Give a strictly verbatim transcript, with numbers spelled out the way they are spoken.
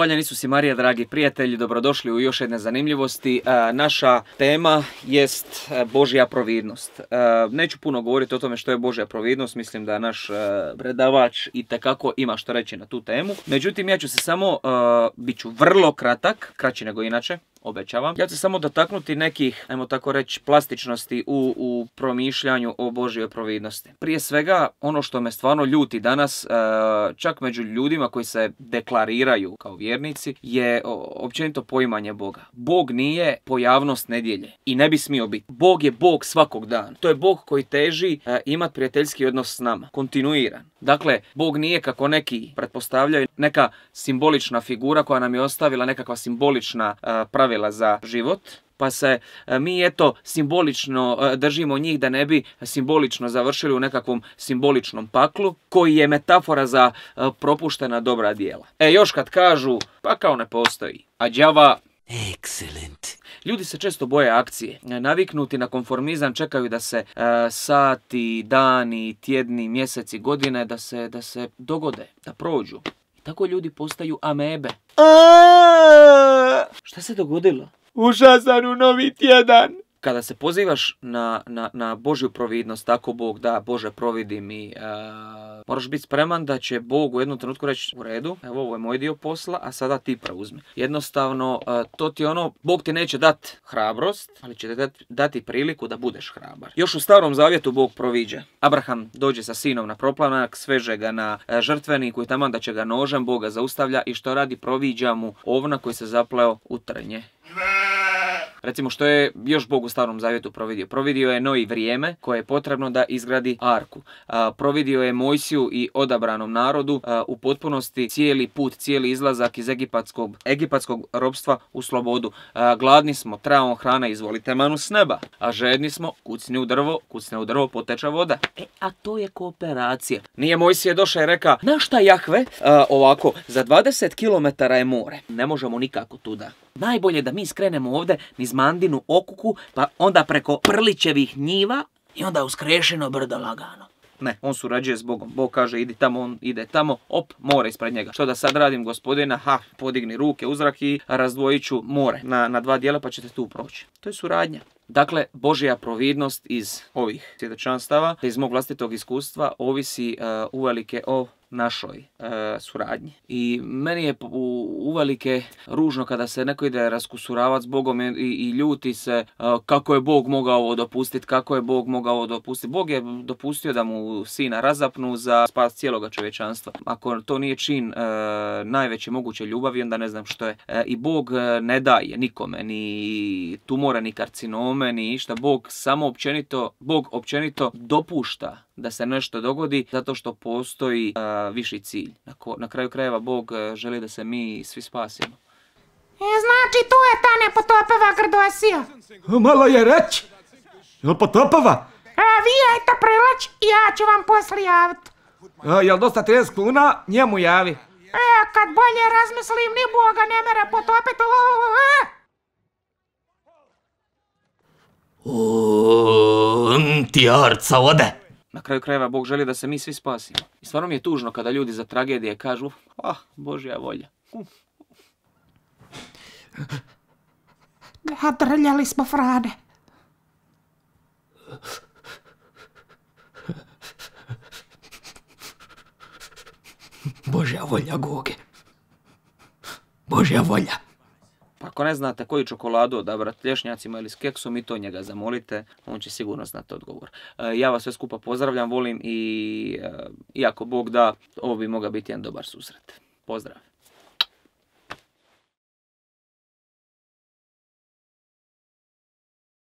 Hvaljen Isus i Marija, dragi prijatelji, dobrodošli u još jedne zanimljivosti. E, naša tema jest Božja providnost. E, neću puno govoriti o tome što je Božja providnost, mislim da naš e, predavač itekako ima što reći na tu temu. Međutim, ja ću se samo, e, bit ću vrlo kratak, kraći nego inače, obećavam. Ja ću se samo dotaknuti nekih, ajmo tako reći, plastičnosti u, u promišljanju o Božjoj providnosti. Prije svega, ono što me stvarno ljuti danas, čak među ljudima koji se deklariraju kao vjernici, je općenito poimanje Boga. Bog nije pojavnost nedjelje i ne bi smio biti. Bog je Bog svakog dana. To je Bog koji teži imati prijateljski odnos s nama, kontinuiran. Dakle, Bog nije, kako neki pretpostavljaju, neka simbolična figura koja nam je ostavila nekakva simbolična pravila za život, pa se mi eto simbolično držimo njih da ne bi simbolično završili u nekakvom simboličnom paklu koji je metafora za propuštena dobra djela. E, još kad kažu, pa kao ne postoji, a đava... Excellent. Ljudi se često boje akcije. Naviknuti na konformizam čekaju da se e, sati, dani, tjedni, mjeseci, godine da se, da se dogode, da prođu. I tako ljudi postaju amebe. Šta se dogodilo? Ušao sam u novi tjedan. Kada se pozivaš na, na, na Božju providnost, tako Bog da, Bože providi mi, e, moraš biti spreman da će Bog u jednom trenutku reći u redu, evo ovo je moj dio posla, a sada ti preuzmi. Jednostavno, e, to ti ono, Bog ti neće dati hrabrost, ali će ti dati, dati priliku da budeš hrabar. Još u Starom Zavjetu Bog proviđa. Abraham dođe sa sinom na proplanak, sveže ga na e, žrtveniku i taman da će ga nožem, Bog ga zaustavlja i što radi, proviđa mu ovna koji se zapleo u trnje. Recimo što je još Bog u Starom Zavjetu providio. Providio je Noji vrijeme koje je potrebno da izgradi arku. A, providio je Mojsiju i odabranom narodu a, u potpunosti cijeli put, cijeli izlazak iz egipatskog, egipatskog ropstva u slobodu. A, gladni smo, trebamo hrana, izvolite manu s neba. A žedni smo, kucni u drvo, kucne u drvo, poteče voda. E, a to je kooperacija. Nije Mojsije došao i reka, na šta Jahve? A, ovako, za dvadeset kilometara je more. Ne možemo nikako tuda. Najbolje da mi skrenemo ovdje niz Mandinu okuku, pa onda preko Prlićevih njiva i onda uskrešeno brdo lagano. Ne, on surađuje s Bogom. Bog kaže idi tamo, on ide tamo, op, more ispred njega. Što da sad radim, gospodina? Ha, podigni ruke u zrak i razdvojit ću more na, na dva dijela pa ćete tu proći. To je suradnja. Dakle, Božja providnost iz ovih svjedočanstava, iz mog vlastitog iskustva, ovisi uh, uvelike o našoj uh, suradnji. I meni je u, uvelike ružno kada se neko ide raskusuravati s Bogom i, i ljuti se uh, kako je Bog mogao ovo dopustiti, kako je Bog mogao ovo dopustiti. Bog je dopustio da mu sina razapnu za spas cijeloga čovječanstva. Ako to nije čin uh, najveće moguće ljubavi, onda ne znam što je. Uh, I Bog uh, ne daje nikome, ni tumore, ni karcinome, ni išta. Bog samo općenito, Bog općenito dopušta da se nešto dogodi zato što postoji uh, viši cilj. Na, ko, na kraju krajeva Bog uh, želi da se mi svi spasimo. E, znači tu je ta nepotopeva Grdosija. Malo je reći. Jel potopeva? E, vi ajte preleć i ja ću vam poslije javiti. E, jel dosta trideset kuna? Njemu javi. E, kad bolje razmislim, ni Boga ne mere potopiti. On ti arca ode. Na kraju krajeva Bog želi da se mi svi spasimo. I stvarno mi je tužno kada ljudi za tragedije kažu, ah, Božja volja. Uh. A drljali smo Frane. Božja volja, Goge. Božja volja. Pa ako ne znate koju čokoladu odabrati, lješnjacima ili s keksom, i to njega zamolite, on će sigurno znati odgovor. E, ja vas sve skupa pozdravljam, volim i e, iako Bog da, ovo bi mogao biti jedan dobar susret. Pozdrav!